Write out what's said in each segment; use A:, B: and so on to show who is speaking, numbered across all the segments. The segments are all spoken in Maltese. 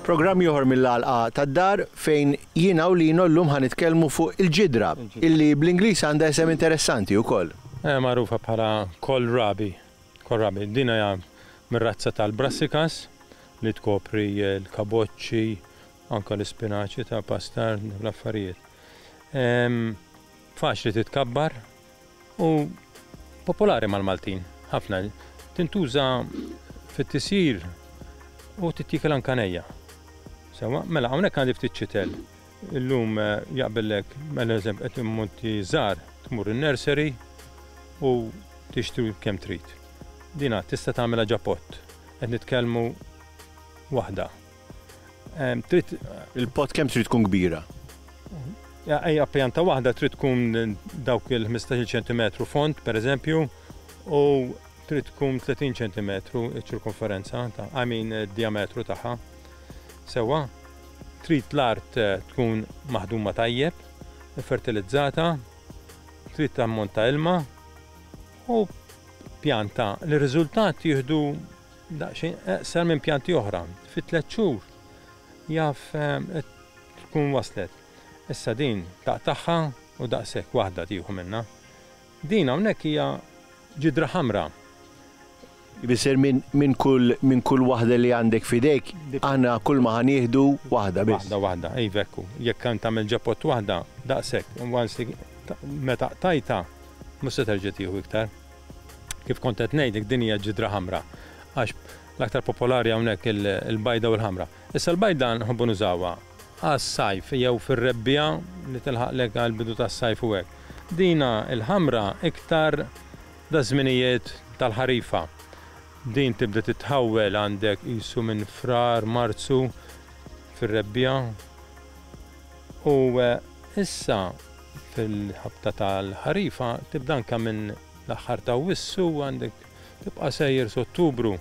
A: Programm ieħor mill-għalqa tad-dar fejn jiena u Lino llum ħa nitkellmu fuq il-ġidra illi bl-Ingliż għandha isem interessanti wkoll.
B: Magħrufa bħala kohlrabi. Kohlrabi. Din hija mir-razza tal-brassicas li tkopri l-kaboċċi, anke l-ispinaċi ta' pastar, l-affarijiet. Faċli titkabbar u popolari mal-Maltin ħafna. Tintuża fit-tisjir u tittiekel anke nejja. Sewwa, mela hawnhekk għandi ftit ċitel. Illum eh, jaqbillek, mela eżempju qed immonti żgħar tmur in-nursery u tixtri kemm trid. Dina tista' tagħmilha ġa pott. Qed nitkellmu waħda.
A: Trid il-pot kemm trid tkun kbira?
B: Ejja pjanta waħda trid tkun dawk il-15 ċentimetru fond, per eżempju, u trid tkun 30 ċentimetru ċ-ċirkonferenza ta' I mean diametru tagħha. Sewwa, trid l-art eh, tkun maħduma tajjeb, fertilizzata, trid ammont ta' ilma u pjanta li riżultat jieħdu Daqsxejn eqsar minn pjanti oħra. Fi tlett xhur jaf tkun waslet. Issa din taqtagħha u daqshekk waħda tieħu minnha. Din hawnhekk hija ġidra ħamra.
A: Jfisser minn kull minn kull waħda li għandek f'idejk aħna kull ma ħa nieħdu waħda biss.
B: Waħda waħda, iva hekk hu. Jekk int tagħmel ġa pott waħda, daqshekk. Once meta qtajtha mhux se terġa' tieħu iktar. Kif kont qed ngħidlek din hija ġidra ħamra għax l-aktar popolari hawnhekk il-bajda u l-ħamra. Issa l-bajda nħobbu nużawha għas-sajf jew fir-rebbiegħa li tilħaqlek għall-bidu tas-sajf u hekk. Dina l-ħamra iktar daż-żminijiet tal-ħarifa. Din tibda titħawwel għandek qisu minn Frar, Marzu fir-rebbiegħa u issa Fil-ħabta tal-ħarifa tibda anke minn l-aħħar ta' Awwissu għandek tibqa' sejjer s'Ottubru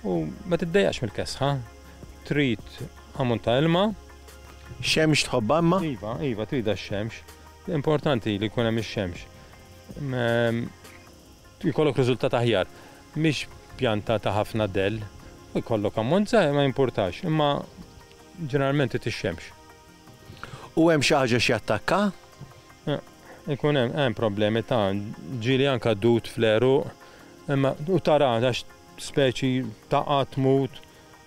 B: u ma tiddejjaqx mill-kesħa. Trid ammont ta' ilma.
A: Xemx tħobbha imma?
B: Iva, iva, tridha x-xemx. Importanti li jkun hemm ix-xemx. Jkollok riżultat aħjar. Mhix pjanta ta' ħafna dell, u jkollok ammont żgħir ma jimpurtax, imma ġeneralment trid ix-xemx.
A: U hemm xi ħaġa x'jattakka?
B: Ikun hemm hemm problemi ta' ġieli anka dud fl-għeruq, imma u tara għax speċi taqa' tmut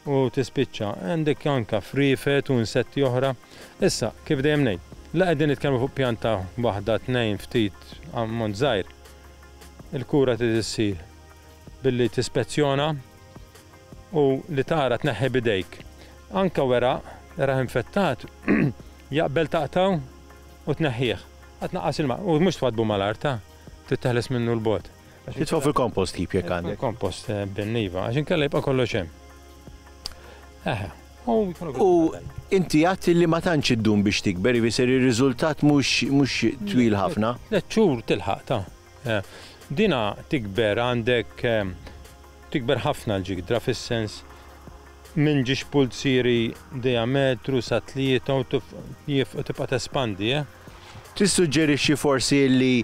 B: u tispiċċa. Għandek anka friefet u insetti oħra. Issa, kif dejjem ngħid, la qegħdin nitkellmu fuq pjanta waħda tnejn ftit ammont żgħir, il-kura trid issir billi tispezzjona u li tara tneħħi b'idejk. Anke weraq, erah infettat, jaqbel taqtgħu u tneħħih. Għad tnaqqas ilma, u mhux twaddbu mal-art, ta, trid teħles minnu 'l bogħod.
A: Titfgħu fil-kompost heap jekk għandek.
B: Fil-kompost bin iva, għax inkella jibqa' kollox hemm. Eħe.
A: U inti għedt li ma tantx iddum biex tikber, jfisser ir-riżultat mhux mhux twil ħafna.
B: Tlett xhur tilħaq ta. Dina tikber għandek Tikber ħafna l-ġigdra fis-sens minn ġiex pulzieri dijametru sa tlieta u tibqa' tespandi, eh.
A: Tissuġġerixxi forsi li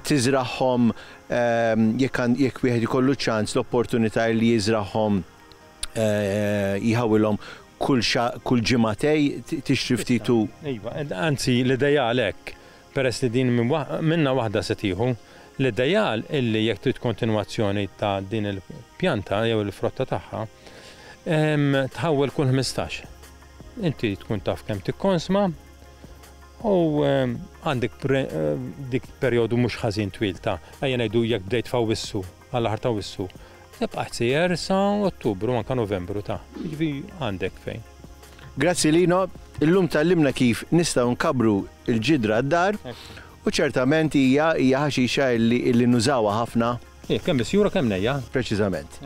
A: tiżragħhom jekk jekk wieħed ikollu ċ-ċans l-opportunità li jiżragħhom jħawwilhom kull kull ġimagħtej tixtri ftit u.
B: Iva, anzi l-ideal hekk. Peress li din minnha waħda se tieħu, l-ideal illi jekk trid kontinwazzjoni ta' din il-pjanta jew il-frotta tagħha, tħawwel kull 15. Inti tkun taf kemm tikkonsma u għandek dik perjodu mhux ħażin twil ta' ejja ngħidu jekk bdejt f'Awwissu għall-aħħar ta' Awwissu, tibqa' sejjer sa Ottubru anke Novembru ta' jiġifieri għandek fejn.
A: Grazzi Lino, illum tgħallimna kif nistgħu nkabbru l-ġidra d-dar u ċertament hija hija ħaxixa illi illi nużawha ħafna.
B: Ih, kemm misjura kemm nejja.
A: Preċiżament.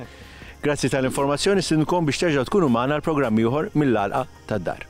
A: Grazzi tal-informazzjoni, nistednukom biex terġgħu tkunu magħna għal programm ieħor mill-għalqa tad-dar.